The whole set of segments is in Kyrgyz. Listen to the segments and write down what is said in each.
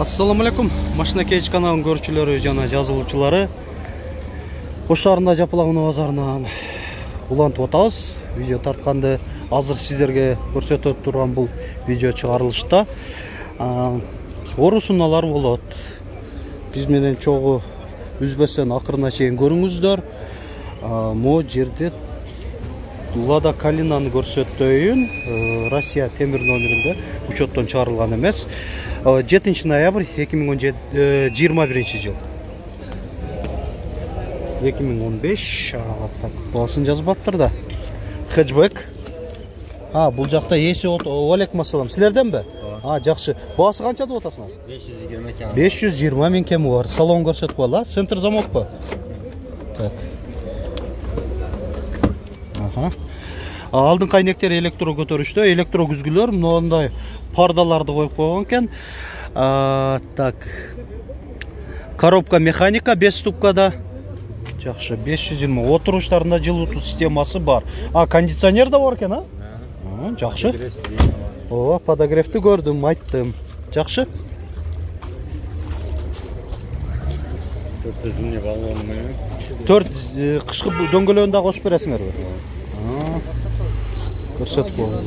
Assalamu alaikum. Машина Кейч каналынын көрүүчүлөрү жана жазылуучулары. Ош шаарында Жапалаган базарынан улантып атабыз. Видео тартканды азыр сиздерге көрсөтүп турган бул видео чыгарылышта орусуналар болот. Биз менен чогуу үзбөстөн акырына чейин көрүңүздөр. Могу жерде Lada Kalina'nı көрсөтөйүн. Россия темир номеринде учеттон чыгарылган эмес. 7 ноябрь 2021 жыл. 2015 так баасын жазбаптыр да. Хэтчбек. Бул жакта эси Алейкум ассалам. Силерденби? Жакшы. Баасы канча деп атасыңар? 520 кем. 520 миң кем бар. Салон көрсөтүп коела. Центр замокпу? Так. Алдын кайнектер электро көтөрүштө, электро күзгүлөр мындай пардаларды коюп койгон экен. Так. Коробка механика 5 ступкада. Жакшы, 520. Отуруштарында жылытуу системасы бар. Кондиционер да бар экен, Жакшы. Подогревти көрдүм, айттым. Жакшы. 4 зимний баллоны. 4 кышкы дөңгөлөгүн да кошуп бересиңерби? Көрсөтүп коебуз.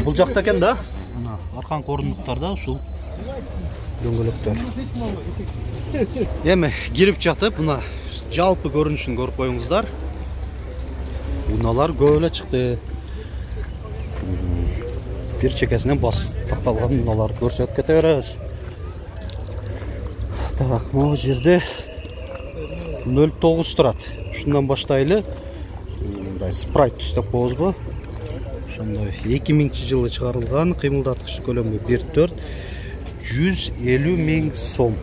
Бул жакта экен да. Мына арканкы орындуктарда ушул дөңгөлөктөр. Эми кирип жатып, мына жалпы көрүнүшүн көрүп коюңуздар. Уналар көп эле чыкты. Бир чекесинен бас такталган уналарды көрсөтүп кете беребиз. Так, могу жерде 09 турат. Ушундан баштайлы. Мындай спрайт түстөп коебузбу? Ошондой 2000 жылы чыгарылган, кыймылдаткыч көлөмү 1.4, 150 миң сом.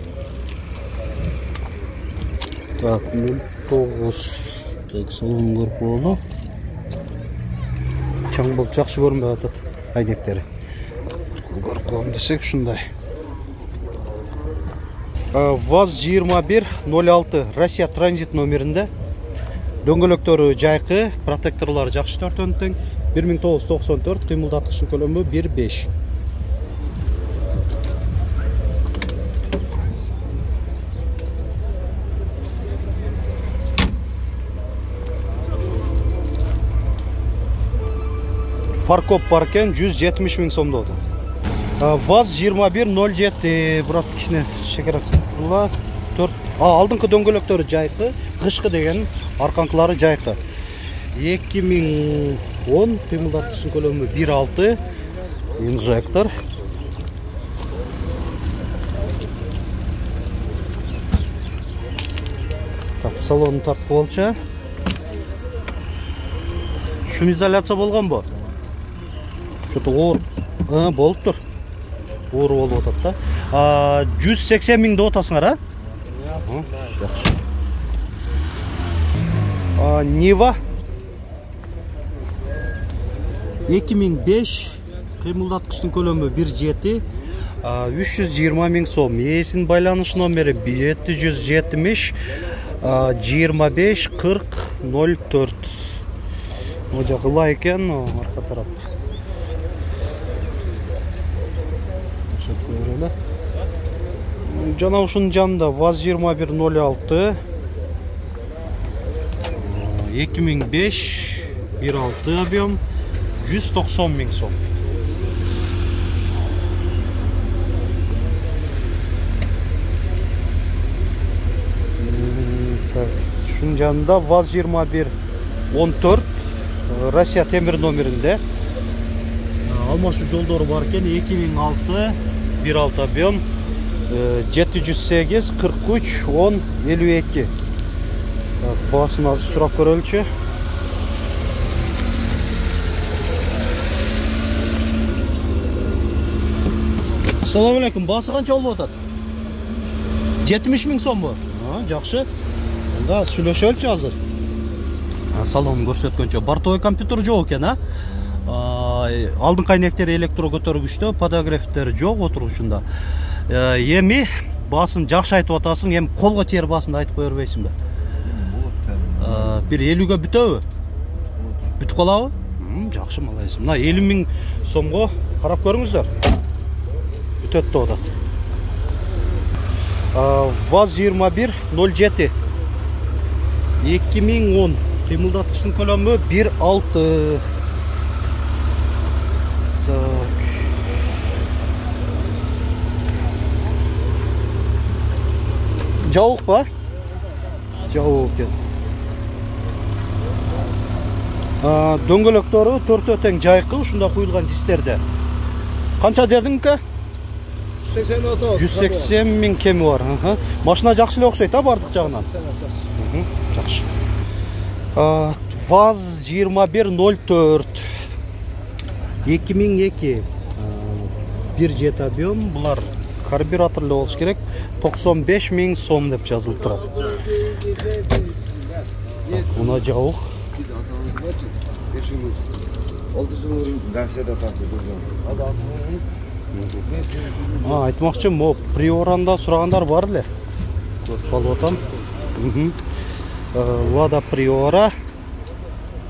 Так, 09. Так, салон көрүп болду. Чаң болуп жакшы көрүнбөй атат айнектери. Көрүп коем десек ушундай. ВАЗ-2106 Россия транзит номеринде. Дөңгөлөктөрү жайкы, протекторлору жакшы төртөнтүң. 1994, кыймылдаткычтын көлөмү 1.5. Фаркоп бар экен, 170 миң сом деп атат. ВАЗ-2107 бирок кичине шекерак була. 4. Алдыңкы дөңгөлөктөрү жайкы, кышкы деген арканкылары жайкы. 2010, кыймылдаткычтын көлөмү 1.6, инжектор. Так, салонун тартып болчу. Шум изоляция болгонбу? Что-то оор болуптур. Оор болуп атат да. 180 миң деп атасыңар, Жакшы. Нива 2005, кыймылдаткычтын көлөмү 1.7, 320 миң сом. Эсинин байланыш номери 770 25 40 04. Бул жак ылай экен, арка тарап. Жана ушунун жанында ВАЗ-2106 2005 1.6 объем 190 миң сом. Ушунун жанында ВАЗ-2114 Россия темир номеринде. Алмашуу жолдору бар экен, 2006 1.6 объем 708 43 10 52. Баасын азыр сурап көрөлүчү. Ассаламу алейкум. Баасы канча болуп атат? 70 миң сомбу? Жакшы. Анда сүйлөшөлүчү азыр. Салонун көрсөткөнчө бортовой компьютер жок экен, Алдыңкы айнектери электро көтөргүчтө, подогревтер жок отурушунда. Эми баасын жакшы айтып атасың, эми колго тээр баасын айтып кое бербейсиңби? Бир 50ге бүтөбү? Бүтүп калабы? Жакшы, малайсың. Мына 50 миң сомго карап көрүңүздөр. Бүтөт деп атат. ВАЗ-2107 2010 кыймылдаткычтын көлөмү 1.6. Так. Жабык ба? Жабык экен. Дөңгөлөктөрү төртөө тең жайкы, ушунда куюлган дистерде. Канча дедиң ка? 180 миң кеми бар. Машина жакшы эле окшойт, бардык жагынан. Жакшы. ВАЗ-2104 2002 1 жет объем. Булар карбюраторлы болуш керек. 95 миң сом деп жазылып турат. Мына жабык. Айтмакчы, мо Приоранда сурагандар бар эле. Көрүп калып атам. Lada Priora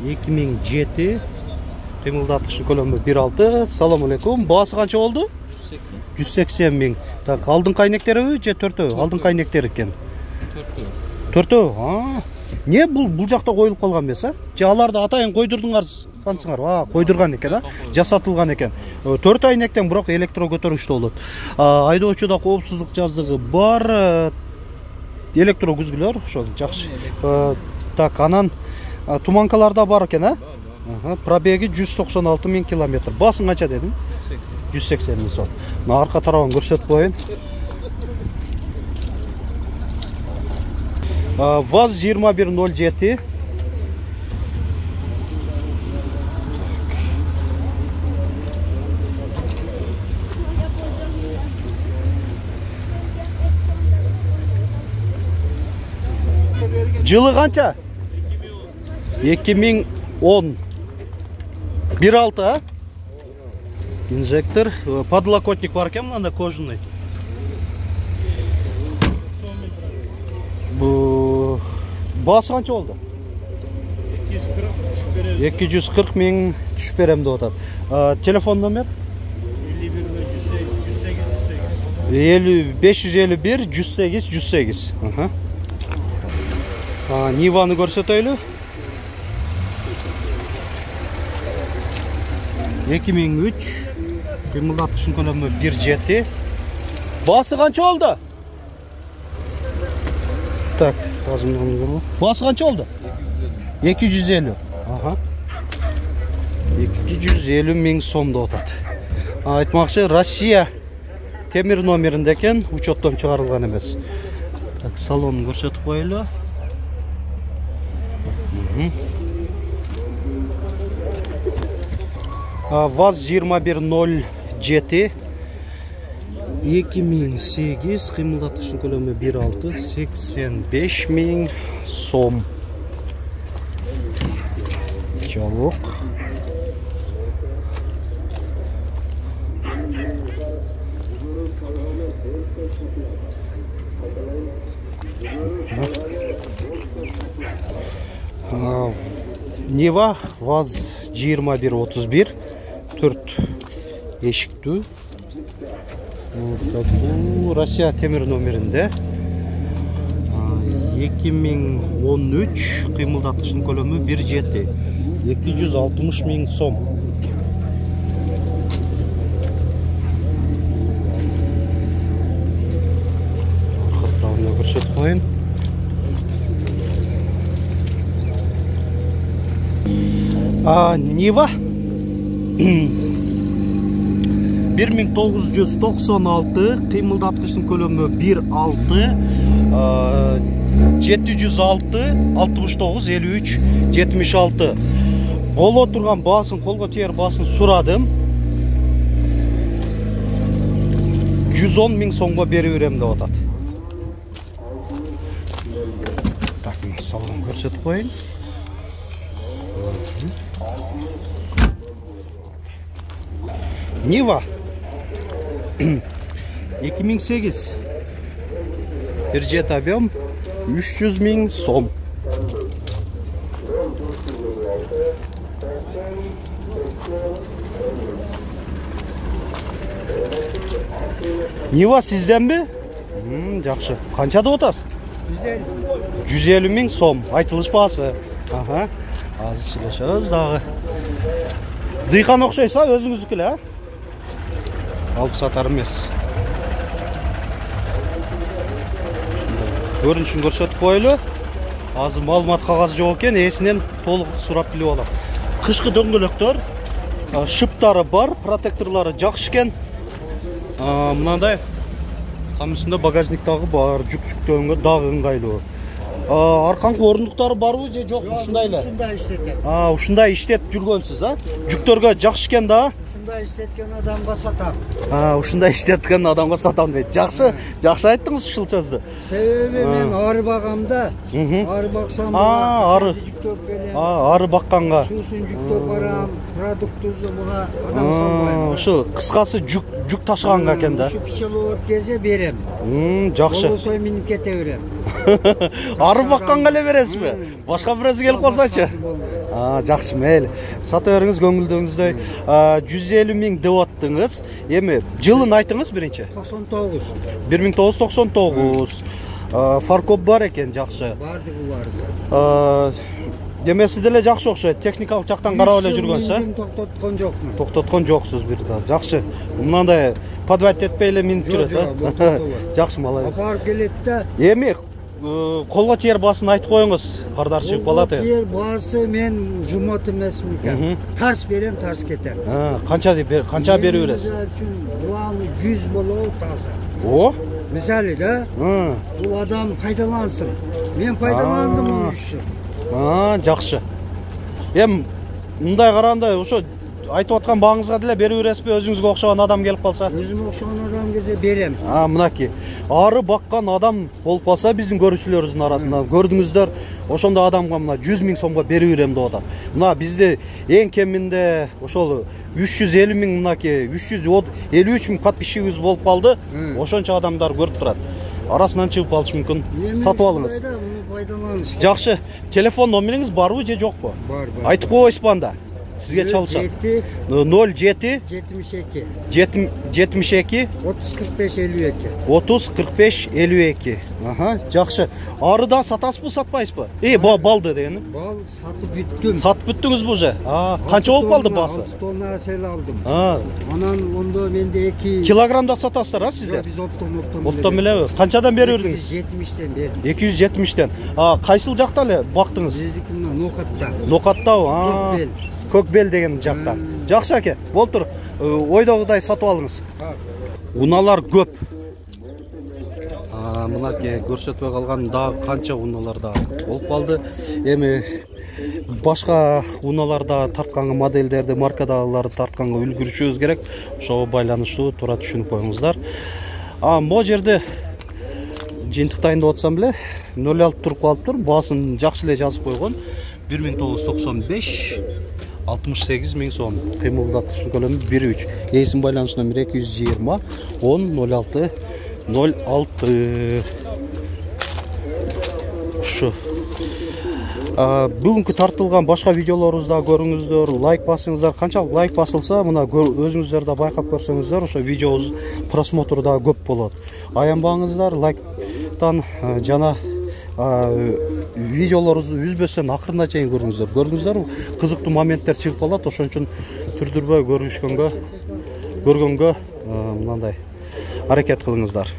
2007 кыймылдаткычтын көлөмү 1.6. Салам алейкум. Баасы канча болду? 180 миң. Так, алдыңкы айнектериби же төртөө? Алдыңкы айнектер экен. Төртөө. Не бул жакта коюлуп калган эмес, же аларды атайын койдурдуңар кансыңар? Койдурган экен, жасатылган экен. Төрт айнектен бирок электро көтөргүчтүү болот. Айдоочуда коопсуздук жаздыгы бар. Электро күзгүлөр, ошол жакшы. Так, анан туманкаларда бар экен, Пробеги 196 миң километр. Басың канча дедиң? 180 миң сом. Мына арка тарабын көрсөтүп коеюн. ВАЗ-2107 жылы канча? 2010 1.6, инжектор, подлокотник бар экен, мында кожаный. Баасы канча болду? 240 миң түшүп берем деп атат. Телефон номер? 551 108 108. Ниваны көрсөтөйлү. 2003 кыймылдаткычтын көлөмү 1.7. Баасы канча болду? Так, баасы канча болду? 250. 250 миң сом деп атат. Айтмакчы, Россия темир номеринде экен, учеттон чыгарылган эмес. Так, салонун көрсөтүп коелу. ВАЗ-2107 2008 кыймылдаткычтын көлөмү 1.6, 85 миң сом. Жабык. Нива ВАЗ-2131 4 эшиктүү. Бул Россия темир номеринде. 2013 кыймылдаткычтын көлөмү 1.7, 260 миң сом. Катравына көрсөтүп коеюн. Нива 1996 кыймылдаткычтын көлөмү 1.6, 706 69 53 76. Боло турган баасын, колго тиер баасын сурадым. 110 миң сомго берип берем деп атат. Так, салон көрсөтүп коеюн. Нива 2008 1 жет объем 300 миң сом. Нива сизденби? Жакшы. Канча деп атасыз? 150 миң сом. Айтылыш баасы. Аха. Азыр сүйлөшөбүз дагы. Дыйкан окшойса өзүңүздүкү эле, алып сатар эмес. Көрүнүшүн көрсөтүп коелу. Азыр маалымат кагазы жок экен, ээсинен толук сурап билип алам. Кышкы дөңгөлөктөр, шыптары бар, протекторлору жакшы экен. Мындай там үстүндө багажник дагы бар, жүк жүктөгөнгө дагы ыңгайлуу. Арканкы орындуктары барбы же жок, ушундай эле? Ушундай иштетет. Ушундай иштеп жүргөнсүз, Жүктөргө жакшы экен да? Ушундай иштеткен адамга сатам. Ушундай иштеткен адамга сатам дейт. Жакшы, жакшы айттыңыз ушул сөздү. Себеби мен ары багамда, ары баксам, ары жүктөп келем. Ары бакканга. Шуусун жүктөп барам, продуктузду буга адам салбайм. Ушу кыскасы жүк ташыганга экен да. Ушу пчеловод келсе берем. Жакшы. Болбосо минип кете берем. Ары бакканга эле бересизби? Башка бирөөсү келип калсачы? Жакшы, мейли. Сата бериңиз көңүлдөгүнүздөй. 150 миң деп аттыңыз. Эми жылын айтыңыз биринчи. 99. 1999. Фаркоп бар экен, жакшы. Бардыгы бар. Демеси деле жакшы окшойт. Техникалык жактан карап эле жүргөнсүз, токтоткон жокмун. Токтоткон жоксуз бир да. Жакшы. Мындай подвать этпей эле минип жүрөт, Жакшы, молодец. Апарып келет да. Эми колго чейер баасын айтып коюңуз. Кардар чыгып калат. Колго чейер баасы мен жумат эмесмин экен. Тарс берем, тарс кетем. Канча берип бересиз? Планы 100 болобу таза. О? Мисалы да. Бул адам пайдалансын. Мен пайдаландым муну үчүн. Жакшы. Эми мындай караганда ошо айтып аткан бааңызга деле берип бересизби? Өзүңүзгө окшогон адам келип калса? Өзүмө окшогон адам келсе берем. Мынакей. Ары баккан адам болуп калса биздин көрүүчүлөрүбүздүн арасында көрдүңүздөр, ошондой адамга мына 100 миң сомго берип берем деп атат. Мына бизде эң кеминде ошол 350 миң, мынакей 353 миң подписчигибиз болуп калды. Ошончо адамдар көрүп турат. Арасынан чыгып калышы мүмкүн. Сатып алыңыз. Жакшы. Телефон номериңиз барбы же жокпу? Бар. Айтып койсузбу анда? Sizge çalışan 07 72 30 45 52 30 45 52. Aha, жақсы. Arıdan satasızbı, satmayızbı? Baldı degeni. Bal satıp büttüm. Satıp büttünüz bu je. Kança olup kaldı bası? 6 tonna sel aldım. Anan onda mende 2 kilogramda satasızlar ha sizde? Biz optom bile. Kançadan beriyordunuz? 270'ten berdim. 270'ten. Kaysıl жақта эле бактыңыз? Биздики мына Нокатта. Нокатта, Көкбел деген жақта. Жақсы аке, болтур. Ойдогудай сатып алыңыз. Уналар көп. Мынакей көрсөтпөй калган дагы канча уналар да болуп калды. Эми башка уналарда тартканга модельдерди, маркадагыларды тартканга үлгүрүшүбүз керек. Ошого байланыштуу туура түшүнүп коюңуздар. Могу жерде жыйынтыктайын деп атсам эле 06 туруп калыптыр. Баасын жакшы эле жазып койгон. 1995 68 миң сом. Кыймылдатыш көлөмү 1.3. Эсин байланыш номери 220 10 06 06. Шу. Бүгүнкү тартылган башка видеолорубузда көрүңүздөр, лайк басыңыздар. Канчалык лайк басылса, мына өзүңүздөр да байкап көрсөңүздөр, ошо видеобуз просмотру да көп болот. Аянбаңыздар, лайктан жана видеолорубузду үзбөстөн акырына чейин көрүңүздөр. Көрдүңүздөр, кызыктуу моменттер чыгып калат, ошон үчүн түрдүрбөй көргөнгө мындай аракет кылыңыздар.